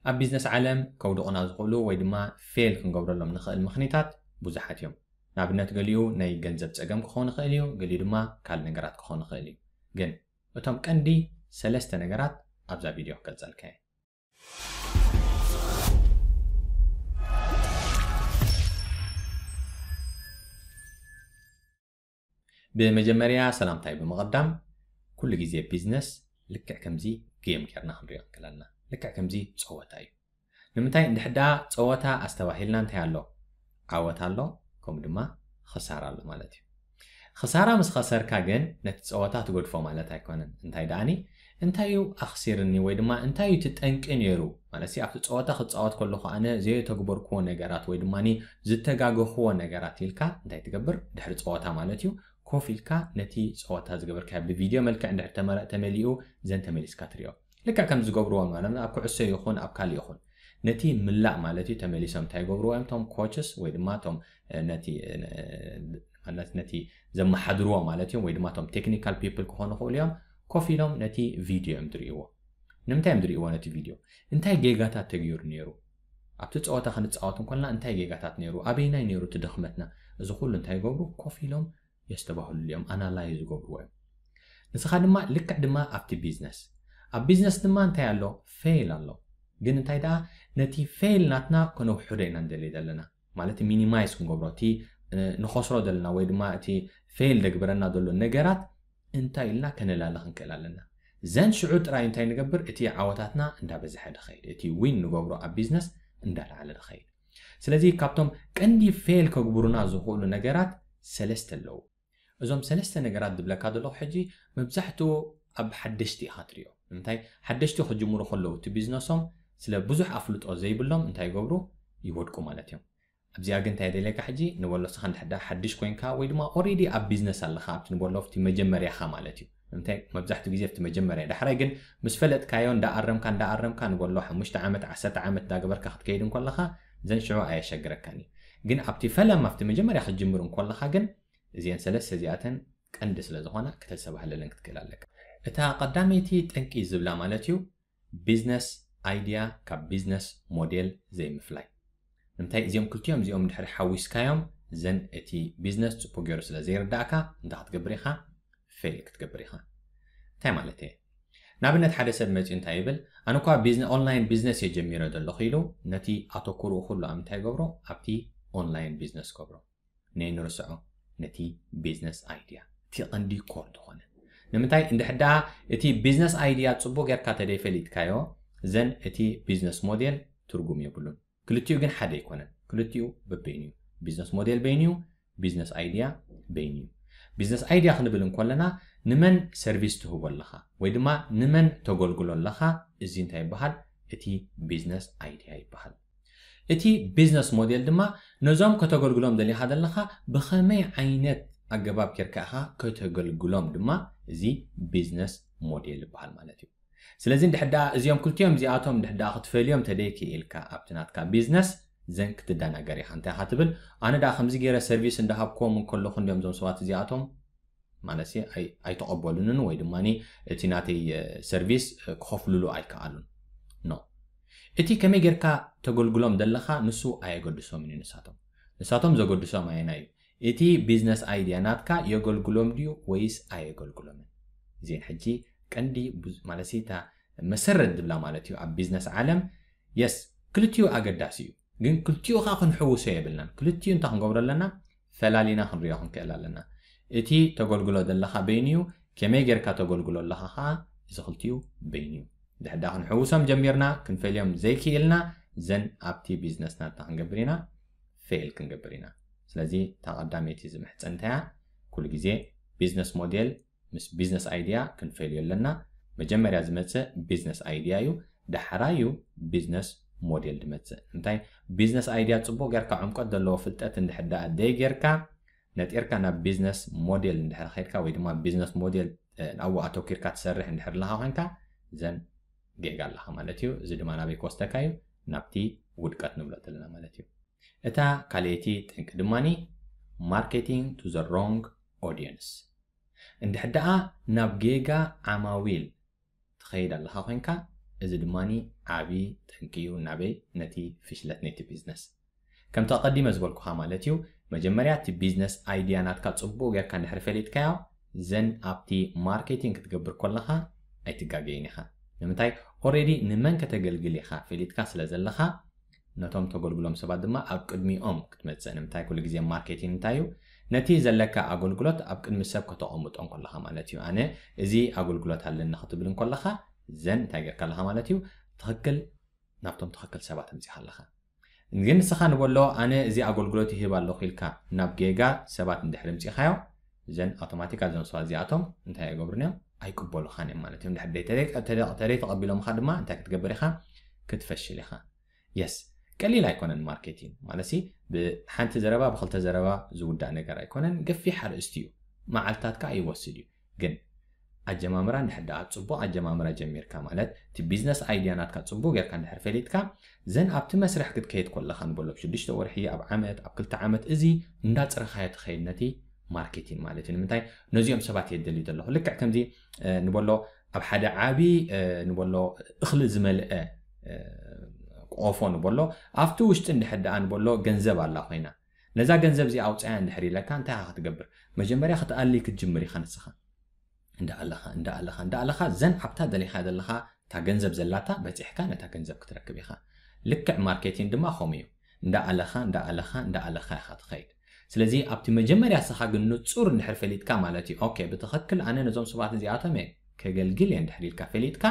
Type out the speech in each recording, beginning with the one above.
ኣብ ቢዝነስ ዓለም ከውድቑና ዝኽእሉ ወይ ድማ ፌል ክንገብረሎም ንኽእል ምኽኒታት ብዙሓት እዮም። ንኣብነት፣ ገሊኡ ናይ ገንዘብ ጸገም ክኸውን ይኽእል እዩ፣ ገሊኡ ድማ ካልእ ነገራት ክኸውን ይኽእል እዩ። ግን እቶም ቀንዲ ሰለስተ ነገራት ኣብዛ ቪድዮ ክገልጸልካ እየ። ብመጀመርያ ሰላምታይ ብምቕዳም፣ ኩሉ ግዜ ቢዝነስ ልክዕ ከምዚ ጌም ጌርና ክንሪኦ ንክእል ኣለና። ልክዕ ከምዚ ጸወታ እዩ። ንምንታይ እንድሕር ደኣ ጸወታ ኣስተባሂልና እንታይ ኣሎ? ዓወት ኣሎ፣ ከምኡ ድማ ክሳራ ኣሎ ማለት እዩ። ክሳራ ምስ ኸሰርካ ግን ነቲ ጸወታ ትገድፎ ማለት ኣይኮነን። እንታይ ደኣኒ እንታይ እዩ ኣኽሲርኒ ወይ ድማ እንታይ እዩ እቲ ጠንቂ ነይሩ? ማለት ኣብቲ ጸወታ ክጻወት ከለኹ ኣነ ዘየተግበርክዎ ነገራት ወይ ድማ ዝተጋገኽዎ ነገራት ኢልካ እንታይ ትገብር? ድሕሪ ጸወታ ማለት እዩ፣ ኮፍ ኢልካ ነቲ ጸወታ ዝገበርካዮ ብቪድዮ መልክዕ እንድሕር ተመረ- ተመሊኡ ዘን ተመሊስካ ትሪኦ። ልክዕ ከም ዝገብርዎ ማለት ኣብ ኩዕሶ ይኹን ኣብ ካልእ ይኹን ነቲ ምላእ ማለት እዩ። ተመሊሶም እንታይ ይገብርዎ እዮም? እቶም ኮችስ ወይ ድማ እቶም ነቲ ማለት ነቲ ዘመሓድርዎ ማለት እዮም ወይ ድማ እቶም ቴክኒካል ፒፕል ክኾኑ ይኽእሉ እዮም። ኮፍ ኢሎም ነቲ ቪድዮ እዮም ዝርእይዎ። ንምንታይ እዮም ዝርእይዎ ነቲ ቪድዮ? እንታይ ጌጋታት ተገይሩ ነይሩ? ኣብቲ ጸወታ ክንጻወት እንኮልና እንታይ ጌጋታት ነይሩ? ኣበይናይ ነይሩ እቲ ድኽመትና? እዚ ኩሉ እንታይ ይገብሩ? ኮፍ ኢሎም የስተባህሉ እዮም፣ ኣናላይዝ ዝገብርዎ እዮም። ንስኻ ድማ ልክዕ ድማ ኣብቲ ቢዝነስ ኣብ ቢዝነስ ድማ እንታይ ኣሎ? ፌል ኣሎ። ግን እንታይ ደኣ ነቲ ፌል ናትና ከነውሕዶ ኢና ንደሊ ዘለና። ማለት ሚኒማይዝ ክንገብሮ እቲ ንኸስሮ ዘለና ወይ ድማ እቲ ፌል ደግብረና ዘሎ ነገራት እንታይ ኢልና ከነላለ ክንክእል ኣለና። ዘን ሽዑ ጥራይ እንታይ ንገብር? እቲ ዓወታትና እንዳበዝሐ ድኸይድ፣ እቲ ዊን ንገብሮ ኣብ ቢዝነስ እንዳለዓለ ድኸይድ። ስለዚ ካብቶም ቀንዲ ፌል ከግብሩና ዝኽእሉ ነገራት ሰለስተ ኣለዉ። እዞም ሰለስተ ነገራት ዝብለካ ዘለኹ ሕጂ መብዛሕትኡ ኣብ ሓደሽቲ ኢኻ ትሪኦ። ንምንታይ ሓደሽቲ ክጅምሩ ከለዉ እቲ ቢዝነሶም ስለ ብዙሕ ኣፍልጦ ዘይብሎም እንታይ ይገብሩ? ይወድቁ ማለት እዮም። ኣብዚኣ ግን እንታይ የደልየካ ሕጂ ንበሎ ንስኻ እንድሕር ደኣ ሓድሽ ኮይንካ ወይ ድማ ኦሬዲ ኣብ ቢዝነስ ኣለኻ ኣብቲ ንበሎ ኣብቲ መጀመርያኻ ማለት እዩ። እንታይ መብዛሕትኡ ግዜ ኣብቲ መጀመርያ ዳሕራይ ግን ምስ ፈለጥካዮ እንዳኣረምካ እንዳኣረምካ ንበሎ ሓሙሽተ ዓመት ዓሰርተ ዓመት እንዳገበርካ ክትከይድ እንከለኻ ዘን ሽዑ ኣየሸግረካን እዩ። ግን ኣብቲ ፈለማ ኣብቲ መጀመርያ ክትጅምር እንከለኻ ግን እዚአን ሰለስተ እዚኣተን ቀንዲ ስለ ዝኾና ክተስተባህለለን ክትክእል ኣለካ። እታ ቀዳመይቲ ጠንቂ ዝብላ ማለት እዩ ቢዝነስ ኣይድያ ካብ ቢዝነስ ሞዴል ዘይምፍላይ። ንምንታይ እዚኦም ክልቲኦም እዚኦም ድሕሪ ሓዊስካዮም ዘን እቲ ቢዝነስ ጽቡቅ ገይሩ ስለ ዘይርዳእካ እንታይ ክትገብር ኢኻ? ፌል ክትገብር ኢኻ። እንታይ ማለት እየ? ንኣብነት ሓደ ሰብ መጺኡ እንታይ ይብል? ኣነ እኳ ኦንላይን ቢዝነስ እየ ጀሚረ ዘለኹ ኢሉ ነቲ ኣተኩርኡ ኩሉ ኣብ እንታይ ይገብሮ? ኣብቲ ኦንላይን ቢዝነስ ገብሮ። ነይ ንርስዖ ነቲ ቢዝነስ ኣይድያ እቲ ቀንዲ ኮር ዝኾነ። ንምንታይ እንድሕር ደኣ እቲ ቢዝነስ ኣይድያ ጽቡቅ ጌርካ ተደይፈሊጥካዮ ዘን እቲ ቢዝነስ ሞዴል ትርጉም የብሉን። ክልቲኡ ግን ሓደ ኣይኮነን። ክልቲኡ በበይኑ እዩ። ቢዝነስ ሞዴል በይኑ እዩ፣ ቢዝነስ ኣይድያ በይኑ እዩ። ቢዝነስ ኣይድያ ክንብል እንኮለና ንመን ሰርቪስ ትህቦ ኣለኻ ወይ ድማ ንመን ተገልግሎ ኣለኻ፣ እዚ እንታይ ይበሃል? እቲ ቢዝነስ ኣይድያ ይበሃል። እቲ ቢዝነስ ሞዴል ድማ ነዞም ከተገልግሎም ደሊኻ ዘለኻ ብኸመይ ዓይነት ኣገባብ ጌርካ ኢኻ ከተገልግሎም ድማ እዚ ቢዝነስ ሞዴል ይበሃል ማለት እዩ። ስለዚ እንድሕር ደኣ እዚኦም ክልቲኦም እዚኣቶም እንድሕር ደኣ ክትፈልዮም ተደይክኢልካ ኣብቲ ናትካ ቢዝነስ ዘን ክትደናገር ኢኻ። እንታይ ኢኻ ትብል? ኣነ ደኣ ከምዚ ገይረ ሰርቪስ እንዳሃብክዎም እንከለኹ እንዲኦም እዞም ሰባት እዚኣቶም ማለት ኣይተቐበሉንን ወይ ድማ እቲ ናተይ ሰርቪስ ክኸፍልሉ ኣይከኣሉን። ኖ፣ እቲ ከመይ ጌርካ ተገልግሎም ዘለኻ ንሱ ኣየገድሶምን እዩ። ንሳቶም ንሳቶም ዘገድሶም ኣየናይ እዩ? እቲ ቢዝነስ ኣይድያ ናትካ የገልግሎም ድዩ ወይስ ኣየገልግሎምን? እዚን ሕጂ ቀንዲ ማለት እታ መሰረት ዝብላ ማለት እዩ ኣብ ቢዝነስ ዓለም። የስ፣ ክልቲኡ ኣገዳሲ እዩ፣ ግን ክልቲኡ ከዓ ክንሕውሶ የብልናን። ክልቲኡ እንታይ ክንገብሮ ኣለና? ፈላሊና ክንሪኦ ክንክእል ኣለና። እቲ ተገልግሎ ዘለኻ በይኑ እዩ፣ ከመይ ጌርካ ተገልግሎ ኣለኻ ከዓ እዚ ክልቲኡ በይኑ እዩ። ድሕዳ ክንሕውሶም ጀሚርና ክንፈልዮም ዘይክኢልና ዘን ኣብቲ ቢዝነስ ናትና ክንገብር ኢና፣ ፌል ክንገብር ኢና። ስለዚ እታ ቀዳመይቲ ዝምሕፀንታያ ኩሉ ግዜ ቢዝነስ ሞዴል ምስ ቢዝነስ ኣይድያ ክንፈልዮ ኣለና። መጀመርያ ዝመፅእ ቢዝነስ ኣይድያ እዩ፣ ዳሕራይ እዩ ቢዝነስ ሞዴል ዝመፅእ። እንታይ ቢዝነስ ኣይድያ ፅቡቅ ጌርካ ዕምቆት ዘለዎ ፍልጠት እንድሕር ደኣ ደይ ጌርካ ነጢርካ ናብ ቢዝነስ ሞዴል እንድሕር ከይድካ ወይ ድማ ቢዝነስ ሞዴል ኣብኡ ኣተኪርካ ትሰርሕ እንድሕር ኣለካ ኮይንካ ዘን ጌጋ ኣለካ ማለት እዩ። እዚ ድማ ናበይ ክወስደካ እዩ? ናብቲ ውድቀት ንብሎ ዘለና ማለት እዩ። እታ ካልኣይቲ ጠንቂ ድማኒ marketing to the wrong audience። እንድሕር ደኣ ናብ ጌጋ ዓማዊል ትኸይድ ኣለኻ ኮይንካ እዚ ድማ ዓቢ ጠንቂ እዩ ናበይ? ነቲ ፍሽለት ናይቲ ቢዝነስ። ከምቲ ኣቐዲመ ዝበልኩኻ ማለት እዩ፣ መጀመርያ እቲ ቢዝነስ ኣይድያ ናትካ ጽቡቕ ጌርካ እንድሕር ፈሊጥካዮ፣ ዘን ኣብቲ ማርኬቲንግ ክትገብር ከለኻ ኣይትጋገይን ኢኻ። ንምንታይ? ኦሬዲ ንመን ከተገልግል ኢኻ ፈሊጥካ ስለ ዘለኻ፣ ነቶም ተገልግሎም ሰባት ድማ ኣብ ቅድሚኦም ክትመጽእ። ንምንታይ? ኩሉ ግዜ ማርኬቲንግ እንታይ እዩ? ነቲ ዘለካ ኣገልግሎት ኣብ ቅድሚ ሰብ ከተቐምጦ እንከለኻ ማለት እዩ። ኣነ እዚ ኣገልግሎት ኣለኒ ክትብል እንከለኻ፣ ዘን እንታይ ጌርካ ኣለኻ ማለት እዩ? ትኽክል ናብቶም ትኽክል ሰባት ኣምጺኻ ኣለኻ። ግን ንስኻ ንበሎ፣ ኣነ እዚ ኣገልግሎት ይህብ ኣለኹ ኢልካ ናብ ጌጋ ሰባት እንድሕር ኣምጺኻዮ፣ ዘን ኣውቶማቲካል እዞም ሰባት እዚኣቶም እንታይ ኣይገብሩን እዮም? ኣይቅበሉኻን እዮም ማለት እዮም። እንድሕር ደይ ተደይ- ተደይ- ተደይ ተቐቢሎምኻ ድማ እንታይ ክትገብር ኢኻ? ክትፈሽል ኢኻ። የስ፣ ቀሊል ኣይኮነን ማርኬቲንግ ማለት ሲ፣ ብሓንቲ ዘረባ ብክልተ ዘረባ ዝውዳእ ነገር ኣይኮነን። ገፊሕ ኣርእስቲ እዩ፣ መዓልታት ከዓ ይወስድ እዩ። ግን ኣጀማምራ እንድሕር ደኣ ጽቡቕ ኣጀማምራ ጀሚርካ ማለት እቲ ቢዝነስ ኣይድያ ናትካ ጽቡቕ ጌርካ እንድሕር ፈሊጥካ፣ ዘን ኣብቲ መስርሕ ክትከይድ ከለኻ ንበሎ ኣብ ሽዱሽተ ወርሒ፣ ኣብ ዓመት፣ ኣብ ክልተ ዓመት፣ እዚ እንዳጽረኻዮ ትኸይድ ነቲ ማርኬቲንግ ማለት እዩ። ንምንታይ? ነዚኦም ሰባት እየ ደልዩ ዘለኹ። ልክዕ ከምዚ እ፣ ንበሎ ኣብ ሓደ ዓቢ እ፣ ንበሎ እኽሊ ዝመልአ እ፣ ቆፎ ንበሎ፣ ኣብቲ ውሽጢ እንድሕር ደኣ ንበሎ ገንዘብ ኣላ ኮይና፣ ነዛ ገንዘብ እዚኣ ኣውፅኣያ እንድሕር ኢለካ እንታይ ኢኻ ክትገብር? መጀመርያ ክትኣሊ ክትጅምር ኢኻ ንስኻ። እንዳኣለኻ እንዳኣለኻ እንዳኣለኻ ዘን ኣብታ ደሊኻ ዘለኻ እታ ገንዘብ ዘላታ በፂሕካ ነታ ገንዘብ ክትረክብ ኢኻ። ልክዕ ማርኬቲንግ ድማ ከምኡ እዩ። እንዳኣለኻ እንዳኣለኻ እንዳኣለኻ ኢኻ ትኸይድ። ስለዚ ኣብቲ መጀመርያ ንስኻ ግን ንጹር እንድሕር ፈሊጥካ ማለት እዩ፣ ኦኬ፣ ብትኽክል ኣነ ነዞም ሰባት እዚኣቶም እየ ከገልግል እየ እንድሕር ኢልካ ፈሊጥካ፣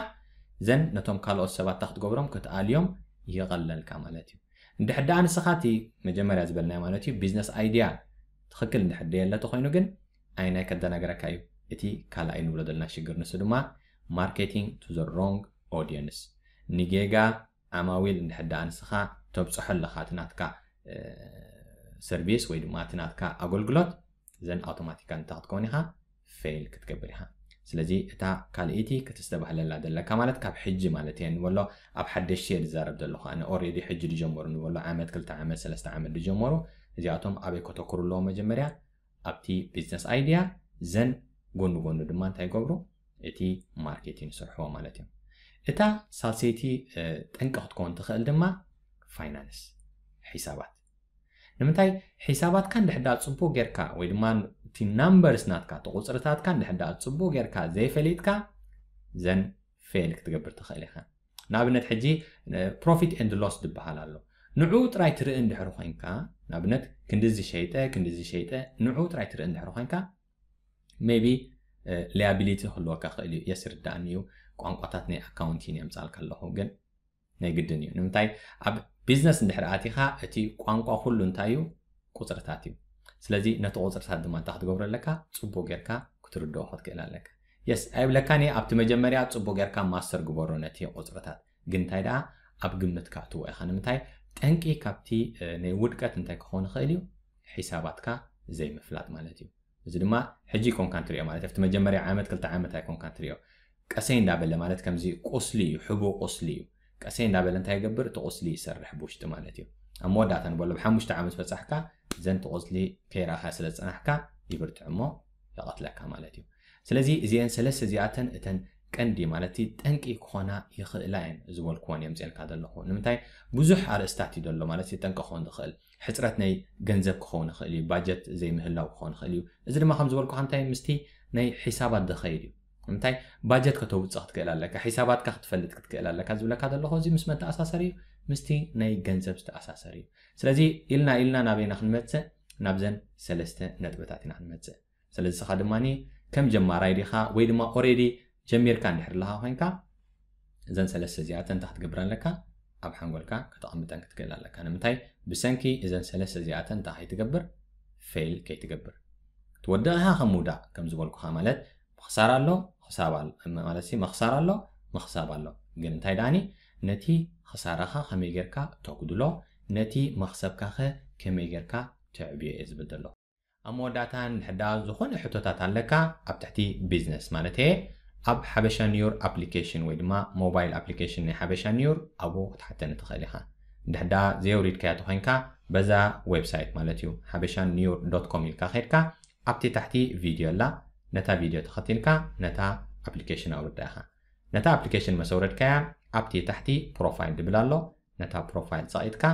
ዘን ነቶም ካልኦት ሰባት እንታይ ክትገብሮም? ክትኣልዮም ይቐለልካ ማለት እዩ። እንድሕር ደኣ ንስኻ እቲ መጀመርያ ዝበልናዮ ማለት እዩ ቢዝነስ ኣይድያ ትኽክል እንድሕር ደየለ ተኾይኑ ግን ኣይናይ ከደናገረካ እዩ። እቲ ካልኣይ ንብሎ ዘለና ሽግር ንሱ ድማ ማርኬቲንግ ቱ ዘ ሮንግ ኦዲየንስ፣ ንጌጋ ዓማዊል እንድሕር ደኣ ንስኻ ተብፅሖ ኣለኻ እቲ ናትካ እ፣ ሰርቪስ ወይ ድማ እቲ ናትካ ኣገልግሎት፣ ዘን ኣውቶማቲካል እንታይ ክትከውን ኢኻ? ፌል ክትገብር ኢኻ። ስለዚ እታ ካልኣይቲ ክትስተባህለላ ዘለካ ማለት ካብ ሕጂ ማለት እየ ንበሎ፣ ኣብ ሓደሽቲ እየ ዝዛረብ ዘለኹ ኣነ። ኦሬዲ ሕጂ ዝጀመሩ ንበሎ፣ ዓመት ክልተ ዓመት ሰለስተ ዓመት ዝጀመሩ፣ እዚኣቶም ኣበይ ከተኩሩ ኣለዎ? መጀመርያ ኣብቲ ቢዝነስ ኣይድያ፣ ዘን ጎኒ ጎኒ ድማ እንታይ ይገብሩ? እቲ ማርኬቲንግ ይሰርሕዎ ማለት እዮም። እታ ሳልሰይቲ እ፣ ጠንቂ ክትከውን ትኽእል ድማ ፋይናንስ፣ ሒሳባት። ንምንታይ? ሒሳባትካ እንድሕር ደኣ ጽቡቕ ጌርካ ወይ ድማ እቲ ናምበርስ ናትካ፣ እቲ ቁጽርታትካ እንድሕር ደኣ ጽቡቕ ጌርካ ዘይፈሊጥካ፣ ዘን ፌል ክትገብር ትኽእል ኢኻ። ንኣብነት ሕጂ ፕሮፊት ኤንድ ሎስ ዝበሃል ኣሎ። ንዕኡ ጥራይ ትርኢ እንድሕር ኮይንካ፣ ንኣብነት ክንድዚ ሸይጠ ክንድዚ ሸይጠ፣ ንዕኡ ጥራይ ትርኢ እንድሕር ኮይንካ፣ ሜቢ ሊያቢሊቲ ክህልወካ ክእል እዩ። የስ፣ ርዳእኒ እዩ፣ ቋንቋታት ናይ ኣካውንቲንግ የምጻልካ ኣለኹ፣ ግን ናይ ግድን እዩ። ንምንታይ? ኣብ ቢዝነስ እንድሕር ኣቲኻ እቲ ቋንቋ ኩሉ እንታይ እዩ? ቁፅርታት እዩ። ስለዚ ነቲ ቁፅርታት ድማ እንታይ ክትገብሮ ኣለካ? ፅቡቅ ጌርካ ክትርድኦ ክትክእል ኣለካ። የስ ኣይብለካን እየ፣ ኣብቲ መጀመርያ ፅቡቅ ጌርካ ማስተር ግበሮ ነቲ ቁፅርታት። ግን እንታይ ደኣ ኣብ ግምት ከእትዎ ኢኻ። ንምንታይ? ጠንቂ ካብቲ እ፣ ናይ ውድቀት እንታይ ክኸውን ይኽእል እዩ? ሒሳባትካ ዘይምፍላጥ ማለት እዩ። እዚ ድማ ሕጂ ኣይኮንካን ትሪኦ ማለት ኣብቲ መጀመርያ ዓመት ክልተ ዓመት ኣይኮንካን ትሪኦ። ቀሰይ እንዳበለ ማለት ከምዚ ቁስሊ እዩ፣ ሕቡእ ቁስሊ እዩ። ቀሰይ እንዳበለ እንታይ ይገብር? እቲ ቁስሊ ይሰርሕ ብውሽጢ ማለት እዩ። ኣብ መወዳእታ ንበሎ ብሓሙሽተ ዓመት በጻሕካ ዘንቲ ቁስሊ ከይረኣኻ ስለ ዝጸናሕካ ይብርትዕ እሞ ይቐትለካ ማለት እዩ። ስለዚ እዚአን ሰለስተ እዚኣተን እተን ቀንዲ ማለት ጠንቂ ክኾና ይኽእላ እየን ዝበልክወን እየ ምፅኤልካ ዘለኹ። ንምንታይ? ብዙሕ ኣርእስታት እዩ ዘሎ ማለት ጠንቂ ክኾን ዝኽእል። ሕፅረት ናይ ገንዘብ ክኸውን ይኽእል እዩ፣ ባጀት ዘይምህላው ክኸውን ይኽእል እዩ። እዚ ድማ ከም ዝበልኩኻ እንታይ ምስቲ ናይ ሒሳባት ዝኸይድ እዩ። እንታይ ባጀት ከተውፅእ ክትክእል ኣለካ፣ ሒሳባትካ ክትፈልጥ ክትክእል ኣለካ ዝብለካ ዘለኹ እዚ ምስ መተኣሳሰር እዩ፣ ምስቲ ናይ ገንዘብ ዝተኣሳሰር እዩ። ስለዚ ኢልና ኢልና ናበይና ክንመፅእ? ናብዘን ሰለስተ ነጥብታት ኢና ክንመፅእ። ስለዚ ንስኻ ድማ ከም ጀማራይ ዲኻ ወይ ድማ ኦሬዲ ጀሚርካ እንድሕር ኣለኻ ኮይንካ እዘን ሰለስተ እዚኣተን እንታይ ክትገብር ኣለካ? ኣብ ሓንጎልካ ከተቐምጠን ክትክእል ኣለካ። ንምንታይ? ብሰንኪ እዘን ሰለስተ እዚኣተን እንታይ ከይትገብር? ፌል ከይትገብር። ትወድቕ ኢኻ ከም ምውዳቕ ከም ዝበልኩኻ ማለት ምኽሳር ኣሎ፣ ክሳብ ኣሎ ማለት ሲ መኽሳር ኣሎ፣ ምኽሳብ ኣሎ። ግን እንታይ ደኣኒ ነቲ ክሳራኻ ከመይ ጌርካ ተጉድሎ፣ ነቲ መኽሰብካኸ ከመይ ጌርካ ተዕብዮ እየ ዝብል ዘለኹ። ኣብ መወዳእታ እንድሕር ደኣ ዝኾነ ሕቶታት ኣለካ ኣብ ትሕቲ ቢዝነስ ማለት እየ ኣብ ሓበሻ ኒውር ኣፕሊኬሽን ወይ ድማ ሞባይል ኣፕሊኬሽን ናይ ሓበሻ ኒውር ኣብኡ ክትሓተኒ ትኽእል ኢኻ። እንድሕር ደኣ ዘየውሪድካያ ተኾይንካ በዛ ዌብሳይት ማለት እዩ ሓበሻ ኒውር ዶት ኮም ኢልካ ከድካ ኣብቲ ታሕቲ ቪድዮ ኣላ፣ ነታ ቪድዮ ተኸቲልካ ነታ ኣፕሊኬሽን ኣውርዳ ኢኻ። ነታ ኣፕሊኬሽን መሰውረድካያ ኣብቲ ታሕቲ profile ዝብል ኣሎ። ነታ profile ጸቒጥካ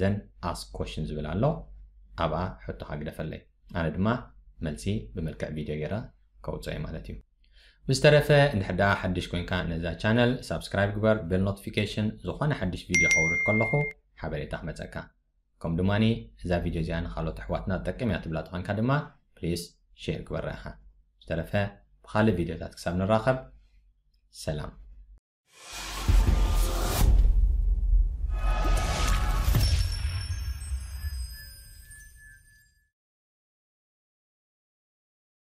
ዘን ask question ዝብል ኣሎ። ኣብኣ ሕቶኻ ግደፈለይ። ኣነ ድማ መልሲ ብመልክዕ ቪድዮ ገይረ ከውፅኦ እየ ማለት እዩ። ብዝተረፈ እንድሕር ደኣ ሓድሽ ኮይንካ ነዛ ቻነል ሳብስክራይብ ግበር፣ ቤል ኖቲፊኬሽን፣ ዝኾነ ሓድሽ ቪድዮ ከውርድ ከለኹ ሓበሬታ ክመፀካ። ከም ድማኒ እዛ ቪድዮ እዚኣ ንካልኦት ኣሕዋትና ትጠቅም እያ ትብላ ተኾንካ ድማ ፕሊስ ሼር ግበራ ኢኻ። ብዝተረፈ ብኻልእ ቪድዮታት ክሳብ ንራኸብ ሰላም።